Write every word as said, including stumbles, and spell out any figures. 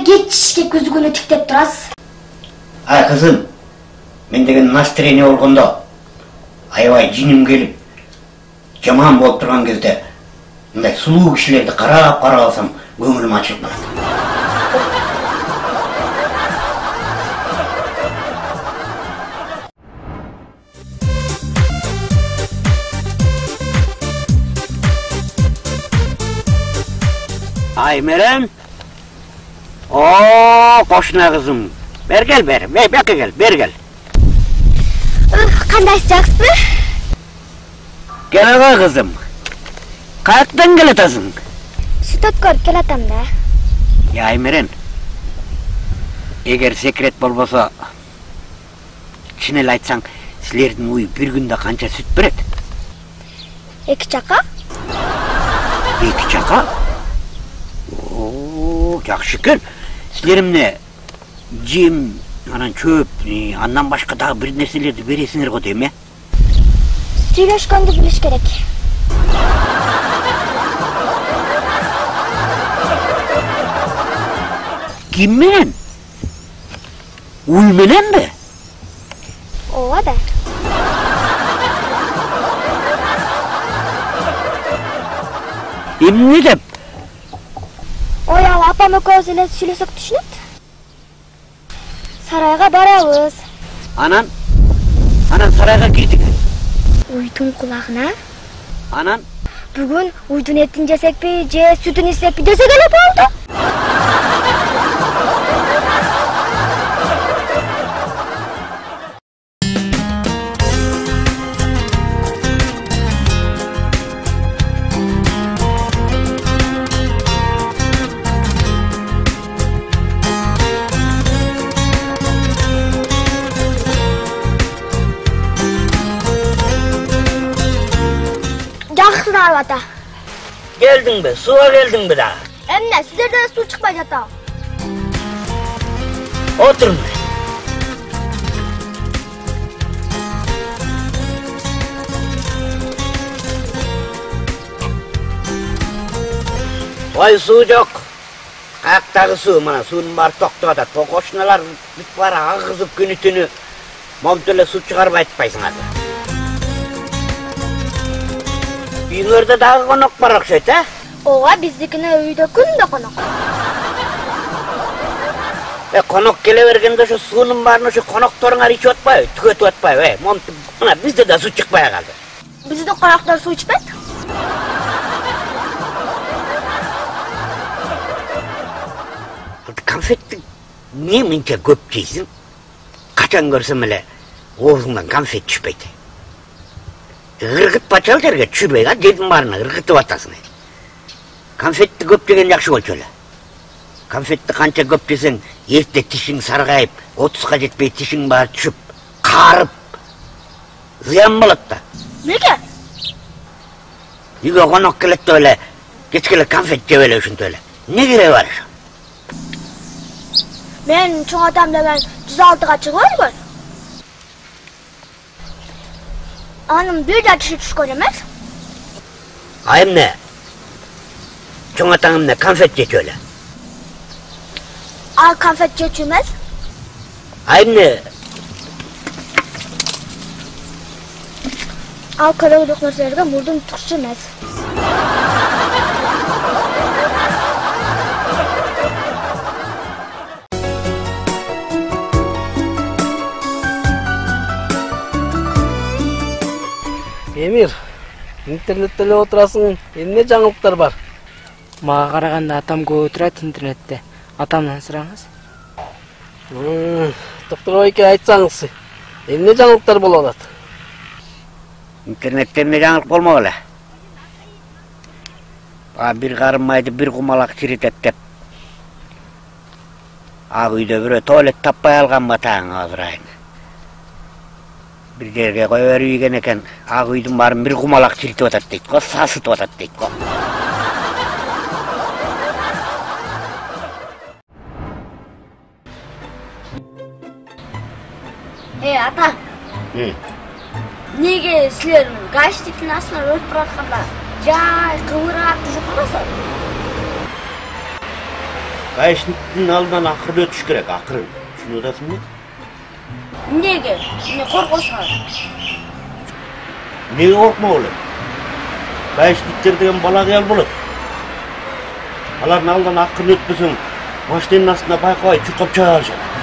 кечке күзгүнү тиктеп турасыз? Ай кызым, мен деген настроение болгондо аябай жиним келип, жаман болуп турган кезде мындай сулуу кишилерди карап карап алсам, көңүлүм ачылып барат. Аймерен. О, кошуна кызым. Бер кел, бер. Бер кел, бер кел. Кандайсыз, жакшысызбы? Келе кызым. Каяктан келатасың? Сүт өткөрүп келатам да. Я Аймерен. Эгер секрет болбосо, чын эле айтсаң, силердин уй бир күндө канча сүт берет? Эки чака? Эки чака? О, жакшы экен. Силер эмне жем, анан чөп, андан башка дагы бир нерселерди бересиңер го дейм, э? Сүйлөшкөндү билиш керек. Ким менен? Уй мененби? Ооба да. Эмне деп? Ой, ал апам экөөбүз эле сүйлөсөк түшүнөт. Сарайга барабыз. Анан? Анан сарайга кирдик. Уйдун кулагына. Анан? Бүгүн уйдун этин жесекпи, же сүтүн ичсекпи десек эле болду. Ата. Келдиңби? Сууга келдиңби да? Эмне, сиздерден суу чыкпай жата. Отурңдар. Ой, суу жок. Каяктагы суу, мына суунун баары токтоп атат. Кошуналар бүт баары агызып күнү-түнү момто эле суу чыгарбай атпайсыңар. Үйүңөрдө дагы конок бар окшойт, э? Ооба, биздикине үйдө күндө конок. Э, конок келе бергенде ошо суунун баарын ошо конокторуңар ичип атпайбы? Түгөтүп атпайбы, э? Момту мына бизде да суу чыкпай калды. Биздин коноктор суу ичпейт? Конфетти эмне мынча көп жейсиң? Качан көрсөм эле оозуңдан конфет түшпөйт. Ыргытпа чал жерге түшүрбөй, а жердин баарына ыргытып атасың. Конфетти көп жеген жакшы болчу эле. Конфетти канча көп жесең, эрте тишиң саргайып, отузга жетпей тишиң баары түшүп, каарып, зыян болот да. Неге? Үйгө конок келет деп эле, кечке эле конфет жеп эле ушинтип эле. Не кереги бар ошо? Мен чоң атам деген жүз алтыга чыгып өлгөн. Анын бир да тиши түшкөн эмес. А эмне? Чоң атаң эмне конфет жечү эле? Ал конфет жечү эмес. А эмне? Ал керектүү нерселерге мурдун тукчу эмес. Эмир, интернетте эле отурасың, эмне жаңылыктар бар? Мага караганда атам көп отурат интернетте. Атамдан сураңыз. Доктор эке айтсаңыз, эмне жаңылыктар болуп атат? Интернетте эмне жаңылык болмок эле. А бир карым майды бир кумалак чиритет деп. Ак үйдө бирөө туалет таппай алган батаң азырайын. Bir жерге кое берип ийген экен, ак үйдүн баарын бир кумалак чиритип атат дейт го, сасытып атат дейт го. Э, ата. Неге силер гаштиктин астынан өтүп баратканда жай кыбырап жүрүп каласыз? Байшниктин алдынан акырын өтүш керек, акырын. Түшүнүп атасыңбы? Эмнеге? Эмне коркосуңар? Эмнеге коркмок элем? Байшниктер деген бала кыял болот. Алардын алдынан акырын өтпөсөң, машинанын астына байкабай чуркап чыга алышат.